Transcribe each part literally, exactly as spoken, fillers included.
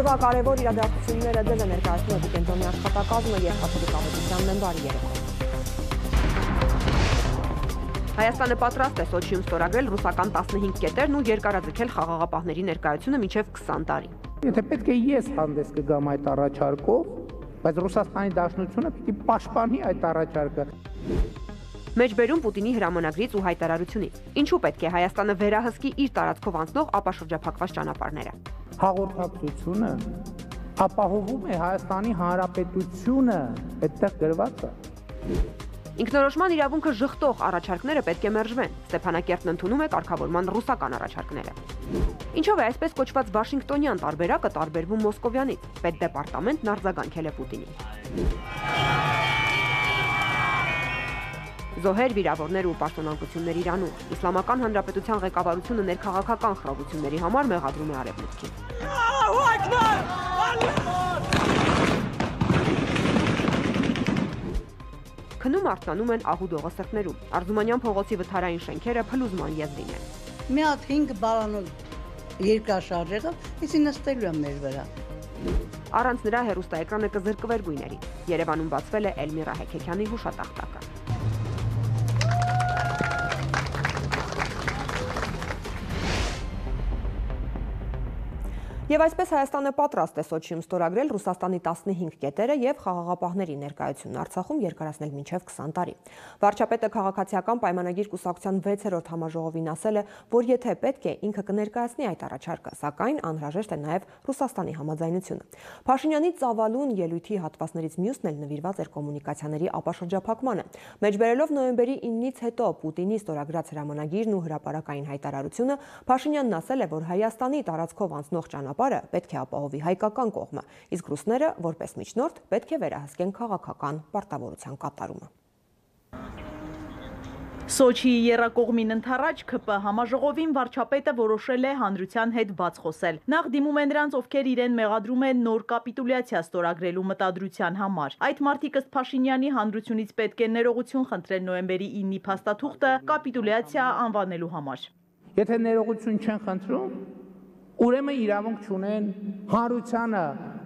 Օրվա կարևոր իրադարձությունները ձեզ է ներկայացնում Էպիկենտրոնի աշխատակազմը և Կաթոլիկավետության մեմբարի երեկոն։ Հայաստանը պատրաստ է Սոչիում ստորագրել ռուսական տասնհինգ կետերն ու երկարաձգել խաղաղապահների ներկայությունը մինչև քսան տարի։ Եթե պետք է ես հանդես կգամ այդ առաջարկով, բայց Ռուսաստանի Դաշնությունը պիտի պաշտպանի այդ առաջարկը։ Մեջբերում Պուտինի հրամանագրից ու հայտարարությունից։ Ինչու պետք է Հայաստանը վերահսկի իր տարածքով անցնող ապաշրջափակված ճանապարհները։ Հաղորդակցությունը ապահովում է Հայաստանի Հանրապետությունը, այդտեղ գրված է։ Ինքնորոշման իրավունքը ժխտող առաջարկները պետք է մերժվեն։ Ստեփանակերտն ընդունում է կարգավորման ռուսական առաջարկները։ Ինչով է այսպես կոչված Վաշինգտոնյան տարբերակը տարբերվում Մոսկովյանից։ Պետդեպարտամենտն արձագանքել է Պուտինին։ Զոհեր, վիրավորներ ու պաշտոնանկություններ Իրանում։ Իսլամական Հանրապետության ղեկավարությունը ներքաղաքական խռովությունների համար մեղադրում է Արևմուտքին։ Քնում արթնանում են ահուդողը սրտներում։ Արզումանյան փողոցի վթարային շենքերը փլուզման եզրին են։ Մի հատ հինգ բալանոց երկրաշարժ եղավ, իսկ նստելու եմ մեր վրա։ Առանց նրա հեռուստաէկրանը կզրկվեր գույներից։ Երևանում բացվել է Էլմիրա Հեքեքյանի հուշատախտակը։ Եվ այսպես Հայաստանը պատրաստ է Սոչիում ստորագրել Ռուսաստանի տասնհինգ կետերը և խաղաղապահների ներկայությունն Արցախում երկարացնել մինչև քսան տարի։ Վարչապետը քաղաքացիական պայմանագիր կուսակցության վեցերորդ համաժողովին ասել է, որ եթե պետք է, ինքը կներկայացնի այդ առաջարկը, սակայն անհրաժեշտ է նաև Ռուսաստանի համաձայնությունը։ Փաշինյանի ծավալուն ելույթի հատվածներից մյուսն էլ նվիրված էր կոմունիկացիաների ապաշրջափակմանը։ Մեջբերելով նոյեմբերի իննից հետո Պուտինի ստորագրած հրամանագիրն ու հրապարակային հայտարարությունը, Փաշինյանն ասել է, որ Հայաստանի տարածքով անցնող ճանապարհը պետք է ապահովի հայկական կողմը, իսկ ռուսները, որպես միջնորդ, պետք է վերահսկեն քաղաքական պարտավորության կատարումը։ Սոչիի եռակողմին ընդառաջ ՔՊ համաժողովին վարչապետը որոշել է հանրության հետ բաց խոսել։ Նախ դիմում են նրանց, ովքեր իրեն մեղադրում են նոր կապիտուլյացիա ստորագրելու մտադրության համար։ Այդ մարդիկ ըստ Փաշինյանի հանրությունից պետք է ներողություն խնդրեն նոյեմբերի իննի փաստաթուղթը կապիտուլյացիա անվանելու համար։ Եթե ներողություն չեն խնդրում, ուրեմն իրավունք չունեն հանրությանը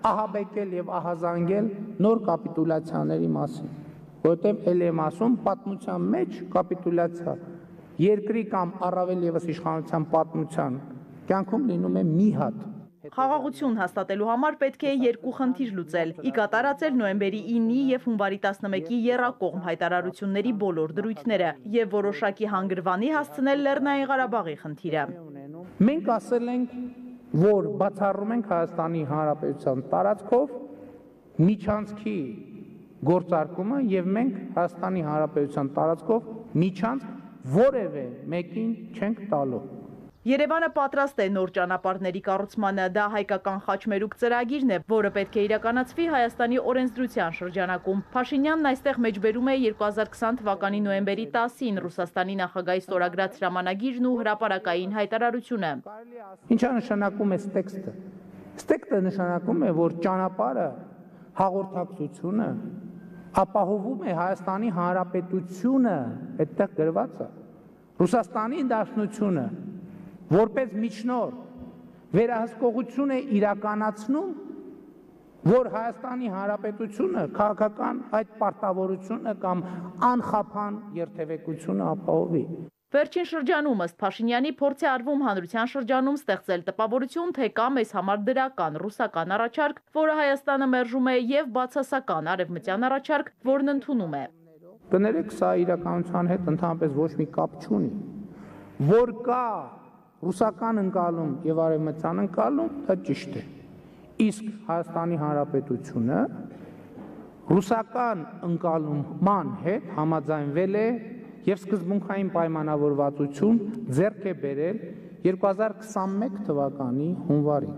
ահաբեկել եւ ահազանգել նոր կապիտուլյացիաների մասին, որովհետեւ ել եմ ասում պատմության մեջ կապիտուլյացիա երկրի կամ առավել եւս իշխանության պատմության կյանքում լինում է մի հատ։ Խաղաղություն հաստատելու համար պետք է երկու խնդիր լուծել՝ ի կատարածել նոյեմբերի իննի եւ հունվարի տասնմեկի եռակողմ հայտարարությունների բոլոր դրույթները եւ որոշակի հանգրվանի հասցնել Լեռնային Ղարաբաղի խնդիրը։ Մենք ասել ենք, որ բացառում ենք Հայաստանի Հանրապետության տարածքով միջանցքի գործարկումը եւ մենք Հայաստանի Հանրապետության տարածքով միջանցք որևէ մեկին չենք տալու։ Երևանը պատրաստ է նոր ճանապարհների կառուցմանը, դա հայկական խաչմերուկ ծրագիրն է, որը պետք է իրականացվի Հայաստանի օրենսդրության շրջանակում։ Փաշինյանն այստեղ մեջբերում է երկու հազար քսան թվականի նոյեմբերի տասին Ռուսաստանի նախագահի ստորագրած հրամանագիրն ու հրապարակային հայտարարությունը։ Ինչա նշանակում է տեքստը։ Տեքստը նշանակում է, որ ճանապարհը, հաղորդակցությունը ապահովում է Հայաստանի Հանրապետությունը, այդտեղ գրված է։ Ռուսաստանի Դաշնությունը որպես միջնորդ վերահսկողություն է իրականացնում, որ Հայաստանի Հանրապետությունը քաղաքական այդ պարտավորությունը կամ անխափան երթևեկությունը ապահովի։ Վերջին շրջանում ըստ Փաշինյանի փորձ է արվում հանրության շրջանում ստեղծել տպավորություն, թե կա մեզ համար դրական ռուսական առաջարկ, որը Հայաստանը մերժում է, եւ բացասական արևմտյան առաջարկ, որն ընդունում է։ Կներեք, սա իրականության հետ ընդհանրապես ոչ մի կապ չունի, որ կա ռուսական ընկալում եւ արևմտյան ընկալում, դա ճիշտ է։ Իսկ Հայաստանի Հանրապետությունը ռուսական ընկալման հետ համաձայնվել է եւ սկզբունքային պայմանավորվածություն ձեռք է բերել երկու հազար քսանմեկ թվականի հունվարին։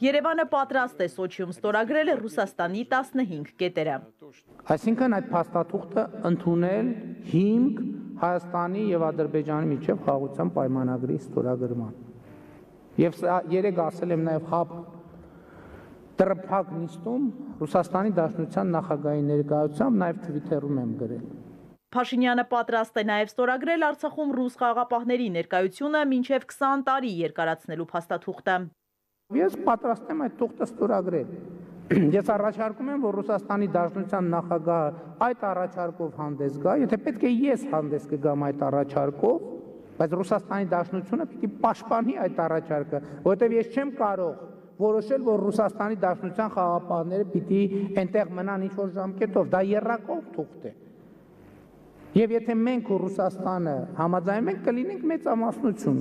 Երևանը պատրաստ է Սոչիում ստորագրել Ռուսաստանի տասնհինգ կետերը։ Այսինքն այդ փաստաթուղթը ընդունել հիմք Հայաստանի եւ Ադրբեջանի միջև խաղաղության պայմանագրի ստորագրման։ Եվ սա երեք ասել եմ նաեւ հապ տրփակ նիստում Ռուսաստանի Դաշնության նախագահի ներկայությամբ նաեւ Twitter-ում եմ գրել։ Փաշինյանը պատրաստ է նաև ստորագրել Արցախում ռուս խաղաղապահների ներկայությունը մինչև քսան տարի երկարացնելու փաստաթուղթը։ Ես պատրաստ եմ այդ թուղթը ստորագրել։ Ես առաջարկում եմ, որ Ռուսաստանի Դաշնության նախագահը այդ առաջարկով հանդես գա, եթե պետք է ես հանդես կգամ այդ առաջարկով, բայց Ռուսաստանի Դաշնությունը պիտի պաշտպանի այդ առաջարկը, որովհետև ես չեմ կարող որոշել, որ Ռուսաստանի Դաշնության խաղաղապահները պիտի այնտեղ մնան ինչ-որ ժամկետով, դա եռակողմ թուղթ է։ Եվ եթե մենք ու Ռուսաստանը համաձայնում ենք, կլինենք մեծամասնություն։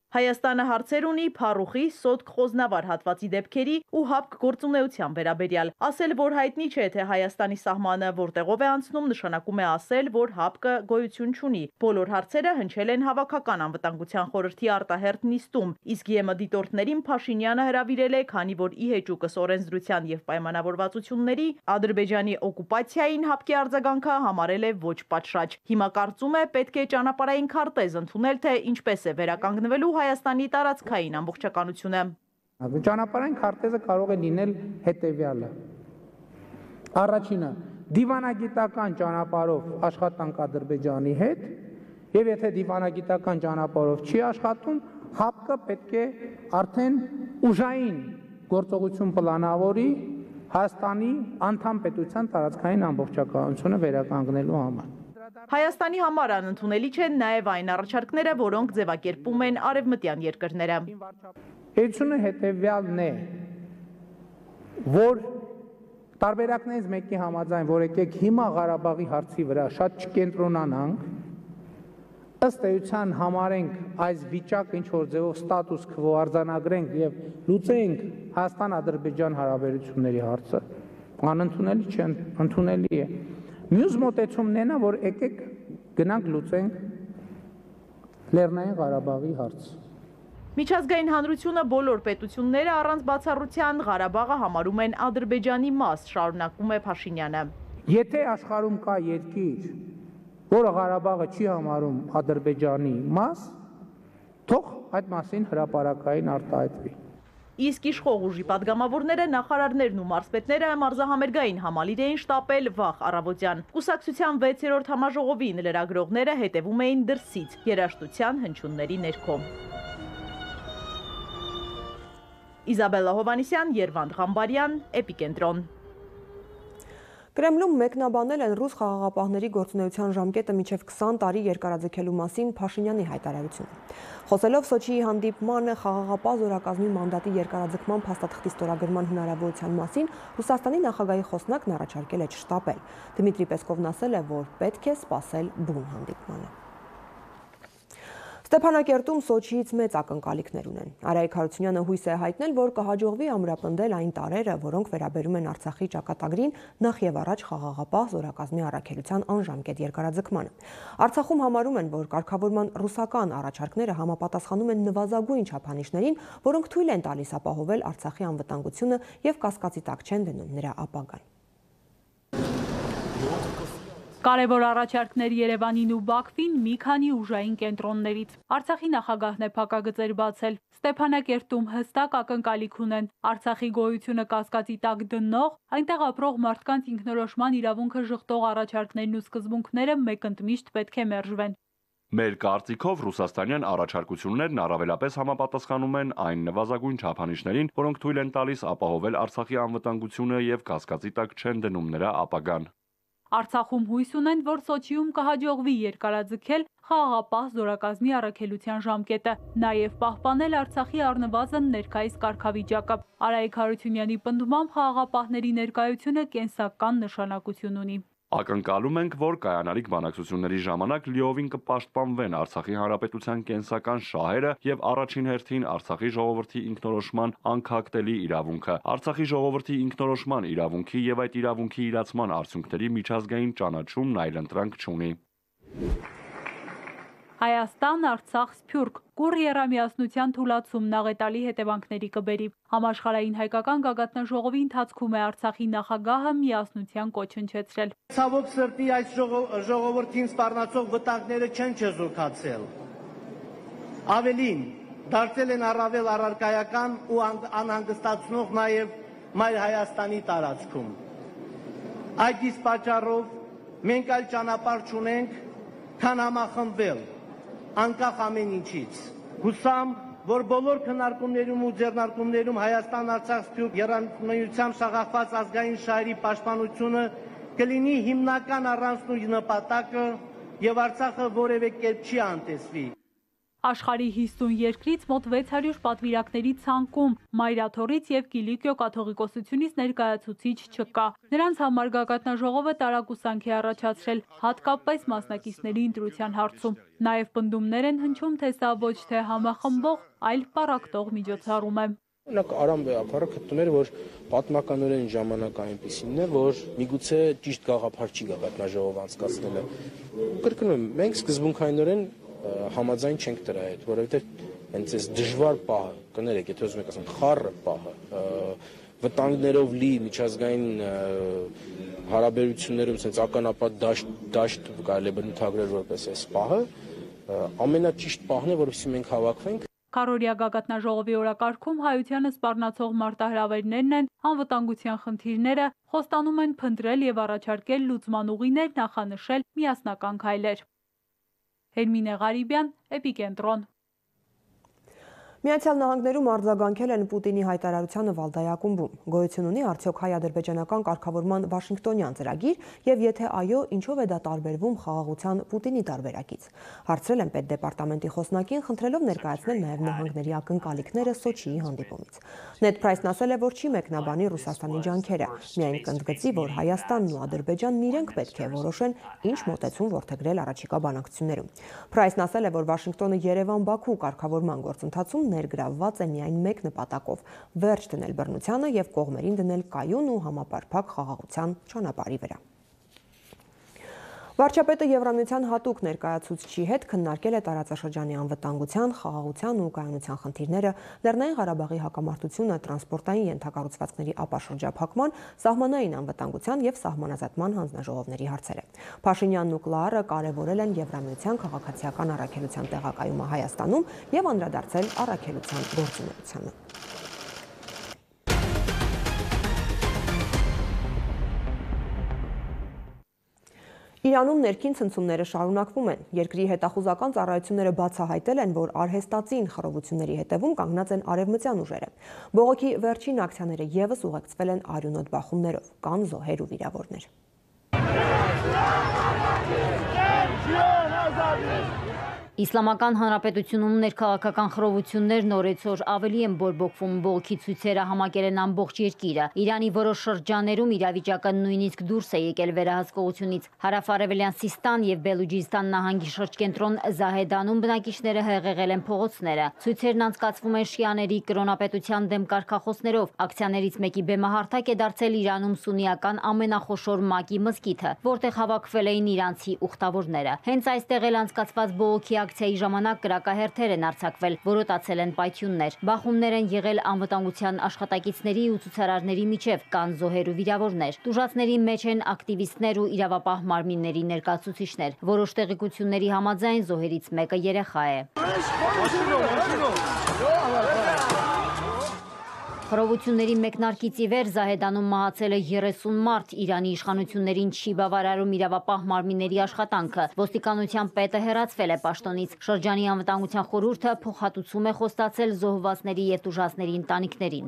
Հայաստանը հարցեր ունի Փարուխի, Սոտք Խոզնավար հատվածի դեպքերի ու ՀԱՊԿ գործունեության վերաբերյալ։ Ասել, որ հայտնի չէ, թե Հայաստանի սահմանը որտեղով է անցնում, նշանակում է ասել, որ ՀԱՊԿ գոյություն չունի։ Բոլոր հարցերը հնչել են Հավաքական անվտանգության խորհրդի արտահերթ նիստում, իսկ ԵՄ դիտորդներին Փաշինյանը հրավիրել է, քանի որ ի հեճուկս օրենսդրության եւ պայմանավորվածությունների Ադրբեջանի օկուպացիային ՀԱՊԿ-ի արձագանքը համարել է ոչ պատշաճ։ Հիմա կարծում է, պետք է ճանապարհային քարտեզ ընդունել, թե ինչպես է վերականգնվելու Հայաստանի տարածքային ամբողջականությունը։ Ճանապարհային քարտեզը կարող է լինել հետևյալը։ Առաջինը՝ դիվանագիտական ճանապարհով աշխատանք Ադրբեջանի հետ, եւ եթե դիվանագիտական ճանապարհով չի աշխատում, ՀԱՊԿ-ը պետք է արդեն ուժային գործողություն պլանավորի Հայաստանի անդամ պետության տարածքային ամբողջականությունը վերականգնելու համար։ Հայաստանի համար անընդունելի չեն նաև այն առաջարկները, որոնք ձևակերպում են արևմտյան երկրները։ Էությունը հետևյալն է, որ տարբերակներից մեկի համաձայն, որ եկեք հիմա Ղարաբաղի հարցի վրա շատ չկենտրոնանանք, ըստ էության համարենք այս վիճակը ինչ-որ ձևով ստատուս քվո արձանագրենք եւ լուծենք Հայաստան-Ադրբեջան հարաբերությունների հարցը, անընդունելի չէ, ընդունելի է։ Մյուս մոտեցումն է նա, որ եկեք գնանք լուծենք Լեռնային Ղարաբաղի հարցը։ Միջազգային հանրությունը բոլոր պետությունները առանց բացառության Ղարաբաղը համարում են Ադրբեջանի մաս, շարունակում է Փաշինյանը։ Եթե աշխարհում կա երկիր, որը Ղարաբաղը չի համարում Ադրբեջանի մաս, թող այդ մասին հրապարակային արտահայտվի։ Իսկ իշխող ուժի падգամավորները, նախարարներն ու մարզպետները մարզահամերգային համալիր էին շտապել վաղ առավոտյան։ Կուսակցության վեցերորդ համաժողովին լրագրողները հետևում էին դրսից, երաժշտության հնչյունների ներքո։ Իզաբելլա Հովանիսյան, Երվանդ Ղամբարյան, Էպիկենտրոն։ Կրեմլում մեկնաբանել են ռուս խաղաղապահների գործունեության ժամկետը մինչև քսան տարի երկարաձգելու մասին Փաշինյանի հայտարարությունը։ Խոսելով Սոչիի հանդիպմանը խաղաղապահ զորակազմի մանդատի երկարաձգման փաստաթղթի ստորագրման հնարավորության մասին Ռուսաստանի նախագահի խոսնակն առաջարկել է չշտապել։ Դմիտրի Պեսկովն ասել է, որ պետք է սպասել բուն հանդիպմանը։ Ստեփանակերտում Սոչիից մեծ ակնկալիքներ ունեն։ Արայիկ Հարությունյանը հույս է հայտնել, որ կհաջողվի ամրապնդել այն տարրերը, որոնք վերաբերում են Արցախի ճակատագրին, նախ եւ առաջ խաղաղապահ զորակազմի առաքելության անժամկետ երկարաձգմանը։ Արցախում համարում են, որ կարգավորման ռուսական առաջարկները համապատասխանում են նվազագույն չափանիշներին, որոնք թույլ են տալիս ապահովել Արցախի անվտանգությունը եւ կասկածի տակ չեն դնում նրա ապագան։ Կարևոր առաջարկներ Երևանին ու Բաքվին մի քանի ուժային կենտրոններից։ Արցախի նախագահն է փակագծեր բացել։ Ստեփանակերտում հստակ ակնկալիք ունեն Արցախի գոյությունը կասկածի տակ դնող, այնտեղ ապրող մարդկանց ինքնորոշման իրավունքը ժխտող առաջարկներն ու սկզբունքները մեկընդմիշտ պետք է մերժվեն։ Մեր կարծիքով ռուսաստանյան առաջարկություններն առավելապես համապատասխանում են այն նվազագույն չափանիշներին, որոնք թույլ են տալիս ապահովել Արցախի անվտանգությունը եւ կասկածի տակ չեն դնում նրա ապագան։ Արցախում հույս ունեն, որ Սոչիում կհաջողվի երկարաձգել խաղաղապահ զորակազմի առաքելության ժամկետը, նաև պահպանել Արցախի առնվազն ներկայիս կարգավիճակը։ Արայիկ Հարությունյանի պնդմամբ խաղաղապահների ներկայությունը կենսական նշանակություն ունի։ Ակնկալում ենք, որ կայանալիք բանակցությունների ժամանակ լիովին կպաշտպանվեն Արցախի հանրապետության կենսական շահերը եւ առաջին հերթին Արցախի ժողովրդի ինքնորոշման անքակտելի իրավունքը, Արցախի ժողովրդի ինքնորոշման իրավունքի եւ այդ իրավունքի իրացման արդյունքների միջազգային ճանաչումն այլընտրանք չունի։ Հայաստան, Արցախ, Սփյուռք կուռ եռամիասնության թուլացումն աղետալի հետևանքների կբերի։ Համաշխարհային հայկական գագաթնաժողովի ընթացքում է Արցախի նախագահը միասնության կոչ հնչեցրել։ Ցավոք սրտի այս ժողովրդին սպառնացող վտանգները չեն չեզոքացել։ Ավելին, դարձել են առավել առարկայական ու անհանգստացնող նաև Մայր Հայաստանի տարածքում։ Այդ իսկ պատճառով մենք այլ ճանապարհ չունենք, քան համախմբվել անկախ ամեն ինչից։ Հուսամ, որ բոլոր քննարկումներում ու ձեռնարկումներում Հայաստան-Արցախ սփյուռք եռամիջությամբ շաղախված ազգային շահերի պաշտպանությունը կլինի հիմնական առանցքն ու նպատակը եւ Արցախը որևէ կերպ չի անտեսվի։ Աշխարհի հիսուն երկրից մոտ վեց հարյուր պատվիրակների ցանկում Մայրաթորից եւ Կիլիկիո կաթողիկոսությունից ներկայացուցիչ չկա։ Նրանց համար գագաթնաժողովը տարակուսանք է առաջացրել, հատկապես մասնակիցների ընտրության հարցում։ Նաեւ պնդումներ են հնչում, թե սա ոչ թե համախմբող, այլ պառակտող միջոցառում է։ Օրինակ Արամ Բեափարը գտնում էր, որ պատմականորեն ժամանակը այնպիսին է, որ միգուցե ճիշտ գաղափար չի գագաթնաժողով անցկացնելը։ Կրկնում եմ, մենք սկզբունքայինորեն համաձայն չենք դրա հետ, որովհետև հենց այս դժվար պահը, կներեք, եթե ուզում եք ասեմ, խառը պահը, վտանգներով լի միջազգային հարաբերություններում sense ականապատ դաշտ դաշտ կարելի է բնութագրել որպես այս պահը, ամենաճիշտ պահն է, որովհետև մենք հավաքվենք։ Քառօրյա գագաթնաժողովի օրակարգում հայությանը սպառնացող մարտահրավերներն են, անվտանգության խնդիրները, խոստանում են փնտրել եւ առաջարկել լուծման ուղիներ, նախանշել միասնական քայլեր։ Հերմինե Ղարիբյան, Էպիկենտրոն։ Միացյալ Նահանգներում արձագանքել են Պուտինի հայտարարությանը Վալդայ-ակումբում։ Գոյություն ունի արդյոք հայ-ադրբեջանական կարգավորման Վաշինգտոնյան ծրագիր եւ եթե այո, ինչով է դա տարբերվում խաղաղության Պուտինի տարբերակից։ Հարցրել են Պետդեպարտամենտի խոսնակին, խնդրելով ներկայացնել նաեւ նահանգների ակնկալիքները Սոչիի հանդիպումից։ Նեդ Պրայսն ասել է, որ չի մեկնաբանի Ռուսաստանի ջանքերը, միայն կընդգծի, որ Հայաստանն ու Ադրբեջանն իրենք պետք է որոշեն, ինչ մոտեցում որդեգրել առաջիկա բանակցություններում։ Պրայսն ասել է, որ Վաշինգտոնը Երևան-Բաքու կարգավորման գործընթացում ներգրավված է միայն մեկ նպատակով՝ վերջ դնել բռնությանը եւ կողմերին դնել կայուն ու համապարփակ խաղաղության ճանապարհի վրա։ Վարչապետը Եվրամիության հատուկ ներկայացուցչի հետ քննարկել է տարածաշրջանի անվտանգության, խաղաղության ու կայունության խնդիրները, Լեռնային Ղարաբաղի հակամարտությունը, տրանսպորտային ենթակառուցվածքների ապաշրջափակման, սահմանային անվտանգության եւ սահմանազատման հանձնաժողովների հարցերը։ Փաշինյանն ու Կլարը կարևորել են Եվրամիության քաղաքացիական առաքելության տեղակայումը Հայաստանում եւ անդրադարձել առաքելության գործունեությանը։ Իրանում ներքին ցնցումները շարունակվում են։ Երկրի հետախուզական ծառայությունները բացահայտել են, որ արհեստածին խռովությունների հետևում կանգնած են արևմտյան ուժերը։ Բողոքի վերջին ակցիաները եւս ուղեկցվել են արյունոտ բախումներով, կան զոհեր ու վիրավորներ։ Իսլամական Հանրապետությունում ներքաղաքական խռովություններն օրեցօր ավելի են բորբոքվում, բողոքի ցույցերը համակել են ամբողջ երկիրը։ Իրանի որոշ շրջաներում իրավիճակը նույնիսկ դուրս է եկել վերահսկողությունից։ Հարավ-արևելյան Սիստան եւ Բելուջիստան նահանգի շրջկենտրոն Զահեդանում բնակիչները հեղեղել են փողոցները։ Ցույցերն անցկացվում են շիաների կրոնապետության դեմ կարգախոսներով։ Ակցիաներից մեկի բեմահարթակ է դարձել Իրանում սուննիական ամենախոշոր Մակի մզկիթը, որտեղ հավաքվել էին իրանցի ուխտավորները։ Հենց այստեղ էլ անցկացված բողոքի ակցիայի ժամանակ կրակահերթեր են արձակվել, որոտացել են պայթյուններ։ Բախումներ են եղել անվտանգության աշխատակիցների ու ցուցարարների միջև, կան զոհեր ու վիրավորներ։ Տուժածների մեջ են ակտիվիստներ ու իրավապահ մարմինների ներկայացուցիչներ։ Որոշ տեղեկությունների համաձայն զոհերից մեկը երեխա է։ Խռովությունների մեկնարկից ի վեր Զահեդանում մահացել է երեսուն մարդ, Իրանի իշխանություններին չի բավարարում իրավապահ մարմինների աշխատանքը։ Ոստիկանության պետը հեռացվել է պաշտոնից։ Շրջանի անվտանգության խորհուրդը փոխհատուցում է խոստացել զոհվածների եւ տուժածների ընտանիքներին։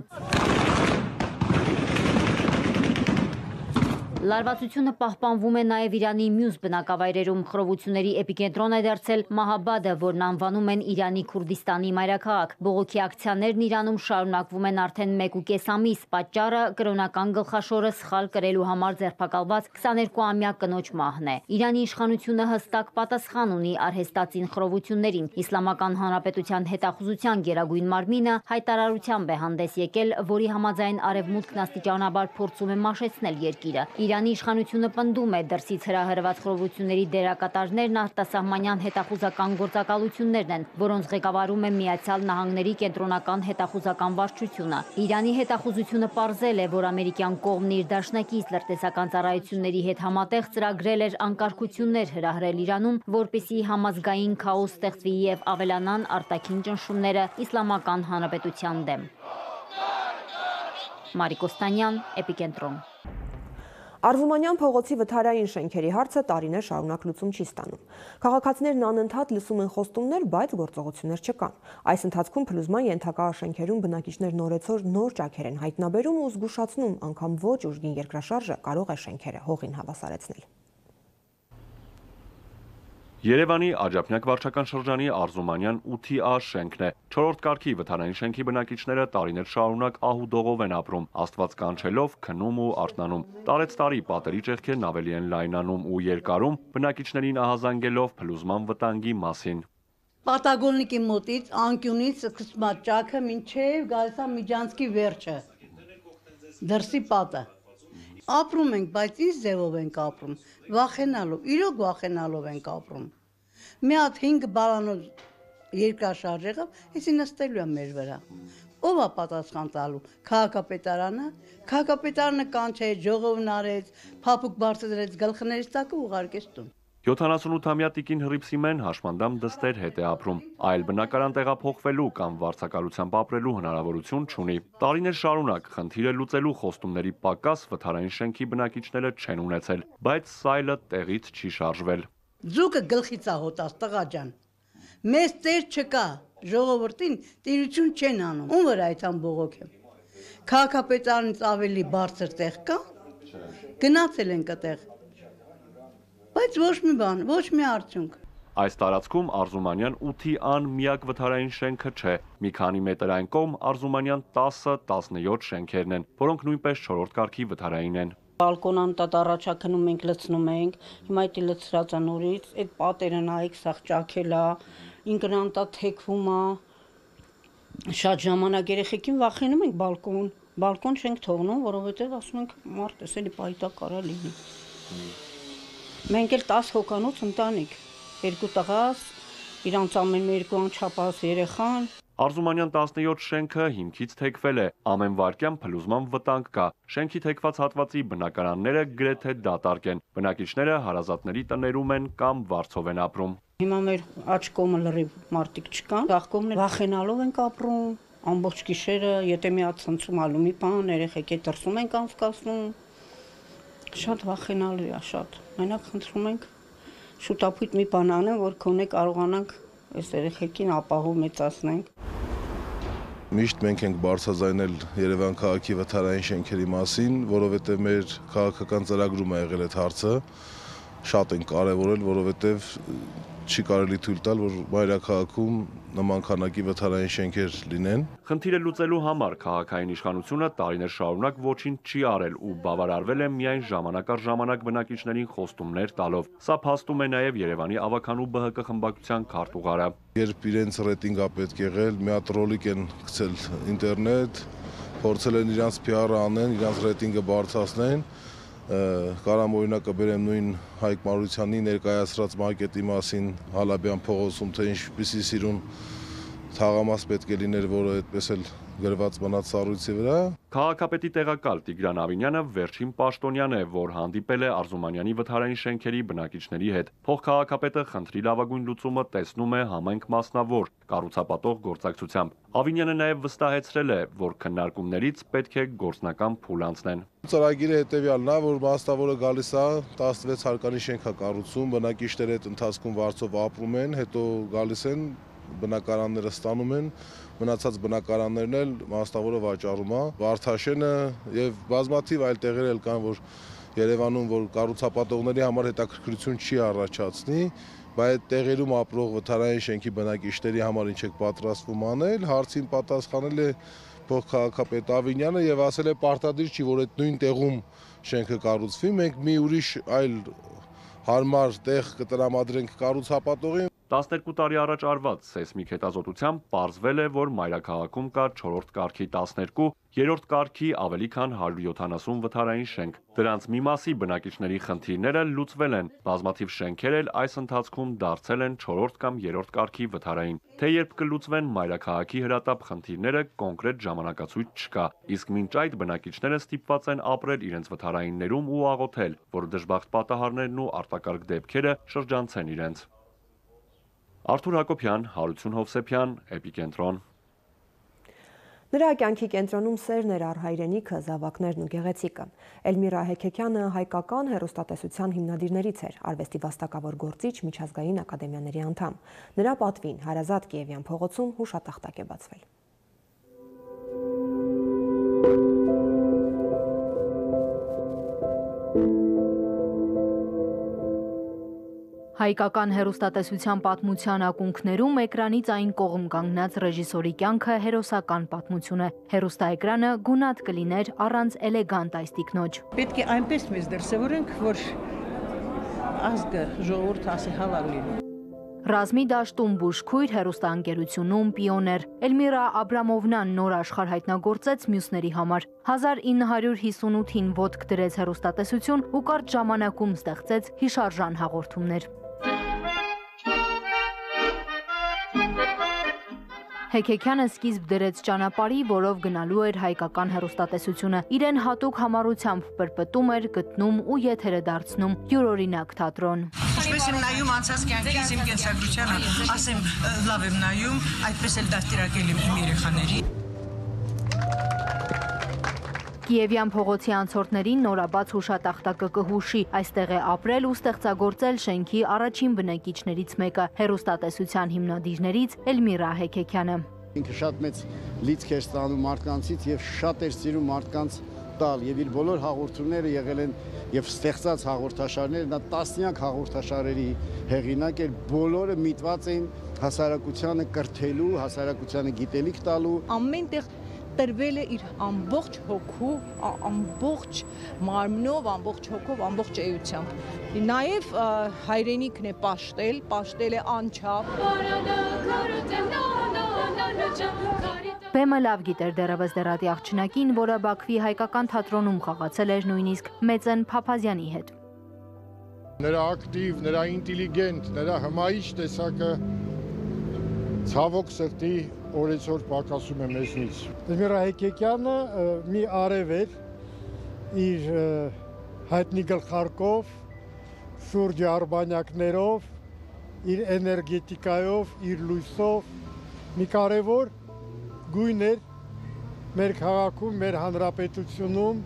Լարվածությունը պահպանվում է նաև Իրանի մյուս բնակավայրերում։ Խռովությունների էպիկենտրոն է դարձել Մահաբադը, որն անվանում են Իրանի Քուրդիստանի մայրաքաղաք։ Բողոքի ակցիաներն Իրանում շարունակվում են արդեն մեկ ու կես ամիս։ Պատճառը կրոնական գլխաշորը սխալ կրելու համար ձերբակալված քսաներկուամյա կնոջ մահն է։ Իրանի իշխանությունը հստակ պատասխան ունի արհեստածին խռովություններին։ Իսլամական Հանրապետության հետախուզության գերագույն մարմինը հայտարարությամբ է հանդես եկել, որի համաձայն Արևմուտքն աստիճանաբար փորձում է մաշեցնել երկիրը։ Իրանի իշխանությունը պնդում է դրսից հրահրված խռովությունների դերակատարներն արտասահմանյան հետախուզական գործակալություններն են, որոնց ղեկավարում է Միացյալ Նահանգների կենտրոնական հետախուզական վարչությունը։ Իրանի հետախուզությունը պարզել է, որ ամերիկյան կողմն իր դաշնակից լրտեսական ծառայությունների հետ համատեղ ծրագրել էր անկարգություններ հրահրել Իրանում, որպեսզի համազգային քաոս ստեղծվի եւ ավելանան արտաքին ճնշումները Իսլամական Հանրապետության դեմ։ Մարիկ Օստանյան, Էպիկենտրոն։ Արզումանյան փողոցի վթարային շենքերի հարցը տարիներ շարունակ լուծում չի ստանում։ Քաղաքացիներն անընդհատ լսում են խոստումներ, բայց գործողություններ չկան։ Այս ընթացքում փլուզման ենթակա շենքերում բնակիչներն օրեցօր նոր ճաքեր են հայտնաբերում ու զգուշացնում, անգամ ոչ ուժգին երկրաշարժը կարող է շենքերը հողին հավասարեցնել։ Երևանի Աջափնյակ վարչական շրջանի Արզումանյան ութի A շենքն է։ Չորրորդ կարգի վթարային շենքի բնակիչները տարիներ շարունակ ահուդողով են ապրում, աստված կանչելով, քնում ու արթնանում։ Տարեց տարի պատերի ճեղքերն ավելի են լայնանում ու երկարում, բնակիչներին ահազանգելով փլուզման վտանգի մասին։ Պատագոննիկի մոտից անկյունից սկսում է ճաքը մինչև գալիս է Միջանցքի վերջը։ Դրսի պատը։ Ապրում ենք, բայց ինչ ձևով ենք ապրում, վախենալով, իրոք վախենալով ենք ապրում։ Մի հատ հինգ բալանոց երկրաշարժ եղավ, էսի նստելու է մեր վրա։ Ով է պատասխան տալու։ Քաղաքապետարանը, քաղաքապետարանը կանչեց, ժողովն արեց, փափուկ բարձրացրեց գլխներից տակը ուղարկեց տուն։ յոթանասունութամյա տիկին Հռիփսիմեն հաշմանդամ դստեր հետ է ապրում, այլ բնակարան տեղափոխվելու կամ վարձակալությամբ ապրելու հնարավորություն չունի։ Տարիներ շարունակ խնդիրը լուծելու խոստումների պակաս վթարային շենքի բնակիչները չեն ունեցել, բայց սայլը տեղից չի շարժվել։ Ձուկը գլխից է հոտած, տղա ջան։ Մեզ տեր չկա, ժողովրդին տիրություն չեն անում։ Ում վրա այդ ամբողոք եմ։ Քաղաքապետարանից ավելի բարձր տեղ կա։ Գնացել ենք այդտեղ։ Բայց ոչ մի բան, ոչ մի արդյունք։ Այս տարածքում Արզումանյան ութի A-ն միակ վթարային շենքը չէ։ Մի քանի մետր այն կողմ Արզումանյան տասը տասնյոթ շենքերն են, որոնք նույնպես չորրորդ կարգի վթարային են։ Բալկոնան տատ առաջակնում ենք, լցնում ենք, հիմա դա լցրած է նորից, այդ պատերը նայեք, սաղ ճաքել է, ինքնան տա թեքվում է։ Շատ ժամանակ երեխեքին վախենում ենք բալկոն, բալկոն չենք թողնում, որովհետև ասում ենք մարդ էսելի պայտակ կարա լինի։ Մենք էլ տասը հոգանոց ընտանիք, երկու տղաս, իրանց ամեն երկու անչափահաս երեխան։ Արզումանյան տասնյոթ շենքը հիմքից թեքվել է, ամեն վայրկյան փլուզման վտանգ կա։ Շենքի թեքված հատվածի բնակարանները գրեթե դատարկ են։ Բնակիչները հարազատների տներում են կամ վարձով են ապրում։ Հիմա մեր աջ կողմը լրիվ մարդիկ չկան, ձախ կողմը վախենալով ենք ապրում, ամբողջ գիշերը, եթե մի հատ ցնցում ալու մի բան, երեխեք է դրսում ենք անցկացնում։ Շատ վախենալու է, շատ։ Մենակ խնդրում ենք շուտապույտ մի բան անեն, որ քոնե կարողանանք այս երեխեքին ապահով մեծացնենք։ Միշտ մենք ենք բարձրաձայնել Երևան քաղաքի վթարային շենքերի մասին, որովհետև մեր քաղաքական ծրագրում է եղել այդ հարցը, շատ ենք կարևորել, որովհետև չի կարելի թույլ տալ, որ մայրաքաղաքում նման քանակի վթարային շենքեր լինեն։ Խնդիրը լուծելու համար քաղաքային իշխանությունը տարիներ շարունակ ոչինչ չի արել ու բավարարվել է միայն ժամանակ առ ժամանակ բնակիչներին խոստումներ տալով։ Սա փաստում է նաև Երևանի ավականու Բ Հ Կ խմբակցության քարտուղարը։ Երբ իրենց ռեյտինգը պետք եղել, մի հատ ռոլիկ են գցել ինտերնետ, փորձել են իրանց P R-ը անեն, իրանց ռեյտինգը բարձրացնեն։ Կարամ օրինակը բերեմ նույն Հայկ Մարությանի ներկայացրած մակետի մասին Հալաբյան փողոցում, թե ինչպիսի սիրուն թաղամաս պետք է լիներ, որը այդպես էլ գրված մնաց սառույցի վրա։ Քաղաքապետի տեղակալ Տիգրան Ավինյանը վերջին պաշտոնյան է, որ հանդիպել է Արզումանյանի վթարային շենքերի բնակիչների հետ։ Փոխքաղաքապետը խնդրի լավագույն լուծումը տեսնում է համայնք մասնավոր կառուցապատող գործակցությամբ։ Ավինյանը նաև վստահեցրել է, որ քննարկումներից պետք է գործնական փուլ անցնեն։ Ծրագիրը հետևյալն է, որ մասնավորը գալիս է տասնվեց հարկանի շենք է կառուցում, բնակիչները այդ ընթացքում վարձով ապրում են, հետո գալիս են բնակարանները ստանում են, մնացած բնակարաններն էլ մասնավորը վաճառում է։ Վարդաշենը եւ բազմաթիվ այլ տեղեր էլ կան, որ Երևանում, որ կառուցապատողների համար հետաքրքրություն չի առաջացնի, բայց այդ տեղերում ապրող վթարային շենքի բնակիչների համար ինչ եք պատրաստվում անել, հարցին պատասխանել է փոխքաղաքապետ Ավինյանը եւ ասել է պարտադիր չի, որ այդ նույն տեղում շենքը կառուցվի, մենք մի ուրիշ այլ հարմար տեղ կտրամադրենք կառուցապատողին։ տասներկու տարի առաջ արված սեյսմիկ հետազոտությամբ պարզվել է, որ մայրաքաղաքում կա չորրորդ կարգի տասներկու, երրորդ կարգի ավելի քան հարյուր յոթանասուն վթարային շենք։ Դրանց մի մասի բնակիչների խնդիրները լուծվել են, բազմաթիվ շենքեր էլ այս ընթացքում դարձել են չորրորդ կամ երրորդ կարգի վթարային։ Թե երբ կլուծվեն մայրաքաղաքի հրատապ խնդիրները, կոնկրետ ժամանակացույց չկա, իսկ մինչ այդ բնակիչները ստիպված են ապրել իրենց վթարայիններում ու աղոթել, որ դժբախտ պատահարներն ու արտակարգ դեպքերը շրջանցեն իրենց։ Արթուր Հակոբյան, Հարություն Հովսեփյան, Էպիկենտրոն։ Նրա կյանքի կենտրոնում սերն էր առ հայրենիքը, զավակներն ու գեղեցիկը։ Էլմիրա Հեքեքյանը հայկական հեռուստատեսության հիմնադիրներից էր, արվեստի վաստակավոր գործիչ, միջազգային ակադեմիաների անդամ։ Նրա պատվին Հարազատ Կիևյան փողոցում հուշատախտակ է բացվել։ Հայկական հեռուստատեսության պատմության ակունքներում էկրանից այն կողմ կանգնած ռեժիսորի կյանքը հերոսական պատմություն է։ Հեռուստաէկրանը գունատ կլիներ առանց էլեգանտ այս տիկնոջ։ Պետք է այնպես մեզ դրսևորենք, որ ազգը ժողովուրդը ասի հալալ լինի։ Ռազմի դաշտում բուժքույր, հեռուստաընկերությունում պիոներ։ Էլմիրա Աբրամովնան նոր աշխարհ հայտնագործեց մյուսների համար։ հազար ինը հարյուր հիսունութին ոտք դրեց հեռուստատեսություն ու կարճ ժամանակում ստեղծեց հիշարժան հաղորդումներ։ Հեքեքյանը սկիզբ դրեց ճանապարհի, որով գնալու էր հայկական հեռուստատեսությունը։ Իրեն հատուկ համառությամբ պրպտում էր, գտնում ու եթերը դարձնում յուրօրինակ թատրոն։ Ինչպես եմ նայում անցած կյանքից իմ կենսագրությանը, ասեմ լավ եմ նայում, այդպես էլ դաստիարակել եմ իմ երեխաների։ Կիևյան փողոցի անցորդներին նորաբաց հուշատախտակը կհուշի, այստեղ է ապրել ու ստեղծագործել շենքի առաջին բնակիչներից մեկը, հեռուստատեսության հիմնադիրներից Էլմիրա Հեքեքյանը։ Ինքը շատ մեծ լիցք էր ստանում մարդկանցից եւ շատ էր սիրում մարդկանց տալ եւ իր բոլոր հաղորդումները եղել են եւ ստեղծած հաղորդաշարները, նա տասնյակ հաղորդաշարերի հեղինակ էր, բոլորը միտված էին հասարակությանը կրթելու, հասարակությանը գիտելիք տալու։ Ամենտեղ տրվել է իր ամբողջ հոգու, ամբողջ մարմնով, ամբողջ հոգով, ամբողջ էությամբ։ Նաև հայրենիքն է պաշտել, պաշտել է անչափ։ Բեմը լավ գիտեր դեռևս դերատի աղջնակին, որը Բաքվի հայկական թատրոնում խաղացել էր նույնիսկ Մեծեն Փափազյանի հետ։ Նրա ակտիվ, նրա ինտելիգենտ, նրա հմայիչ տեսակը ցավոք սրտի օրեցօր պակասում է մեզնից։ Էլմիրա Հեքեքյանը մի արև էր իր հայտնի գլխարկով, շուրջի արբանյակներով, իր էներգետիկայով, իր լույսով, մի կարևոր գույն էր մեր քաղաքում, մեր հանրապետությունում։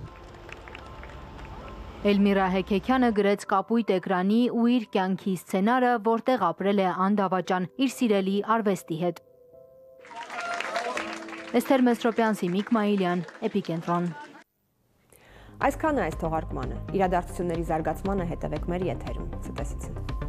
Էլմիրա Հեքեքյանը գրեց կապույտ էկրանի ու իր կյանքի սցենարը, որտեղ ապրել է անդավաճան իր սիրելի արվեստի հետ։ Էսթեր Մեսրոպյան, Սիմիկ Մայիլյան, Էպիկենտրոն։ Այսքանը այս թողարկմանը։ Իրադարձությունների զարգացմանը հետևեք մեր եթերում։ Ցտեսություն։